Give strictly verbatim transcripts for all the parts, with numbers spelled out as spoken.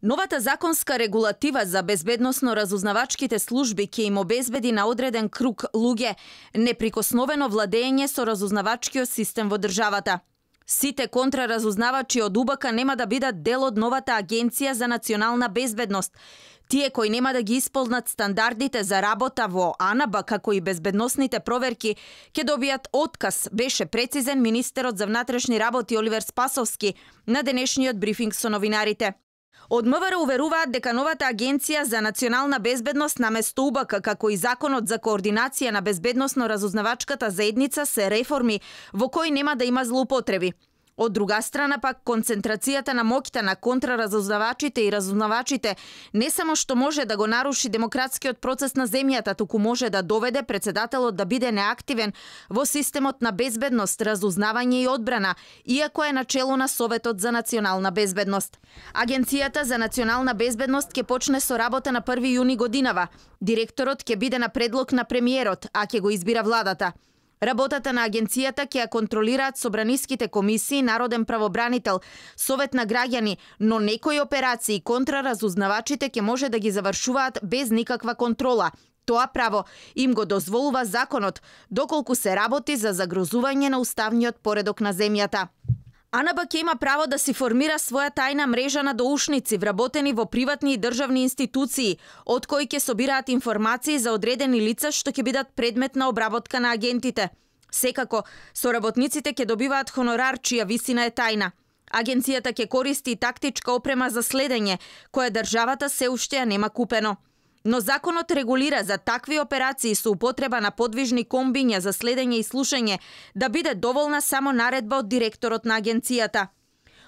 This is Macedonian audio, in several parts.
Новата законска регулатива за безбедносно-разузнавачките служби ќе им обезбеди на одреден круг луѓе неприкосновено владење со разузнавачкиот систем во државата. Сите контраразузнавачи од У Б К нема да бидат дел од новата Агенција за национална безбедност. Тие кои нема да ги исполнат стандардите за работа во А Н Б, како и безбедносните проверки, ќе добијат отказ, беше прецизен министерот за внатрешни работи Оливер Спасовски на денешниот брифинг со новинарите. Од М В Р уверуваат дека новата Агенција за национална безбедност наместо У Б К, како и Законот за координација на безбедносно-разузнавачката заедница се реформи во кои нема да има злоупотреби. Од друга страна пак, концентрацијата на моќта на контраразузнавачите и разузнавачите не само што може да го наруши демократскиот процес на земјата, туку може да доведе председателот да биде неактивен во системот на безбедност, разузнавање и одбрана, иако е начело на Советот за национална безбедност. Агенцијата за национална безбедност ќе почне со работа на први јуни годинава. Директорот ќе биде на предлог на премиерот, а ќе го избира владата. Работата на агенцијата ќе ја контролираат собраниските комисии, народен правобранител, совет на граѓани, но некои операции контраразузнавачите ќе може да ги завршуваат без никаква контрола. Тоа право им го дозволува законот, доколку се работи за загрозување на уставниот поредок на земјата. А Н Б ќе има право да си формира своја тајна мрежа на доушници, вработени во приватни и државни институции, од кои ќе собираат информации за одредени лица што ќе бидат предмет на обработка на агентите. Секако, соработниците ќе добиваат хонорар чија висина е тајна. Агенцијата ќе користи и тактичка опрема за следење, која државата се уште ја нема купено. Но законот регулира за такви операции со употреба на подвижни комбиња за следење и слушање да биде доволна само наредба од директорот на агенцијата.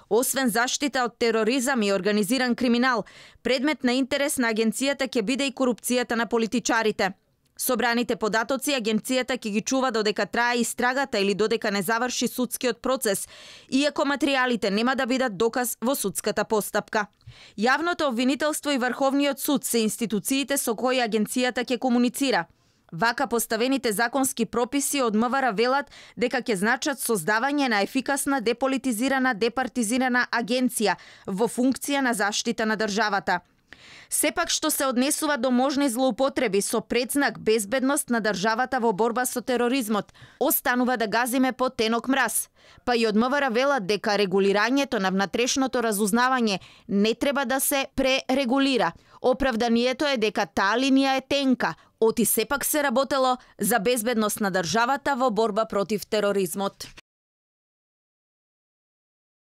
Освен заштита од тероризам и организиран криминал, предмет на интерес на агенцијата ќе биде и корупцијата на политичарите. Собраните податоци агенцијата ќе ги чува додека трае истрагата или додека не заврши судскиот процес, иако материјалите нема да бидат доказ во судската постапка. Јавното обвинителство и Врховниот суд се институциите со кои агенцијата ќе комуницира. Вака поставените законски прописи од М В Р велат дека ќе значат создавање на ефикасна, деполитизирана, департизирана агенција во функција на заштита на државата. Сепак што се однесува до можни злоупотреби со предзнак безбедност на државата во борба со тероризмот, останува да газиме по тенок мраз. Па и од М В Р велат дека регулирањето на внатрешното разузнавање не треба да се пререгулира. Оправданието е дека таа линија е тенка, оти сепак се работело за безбедност на државата во борба против тероризмот.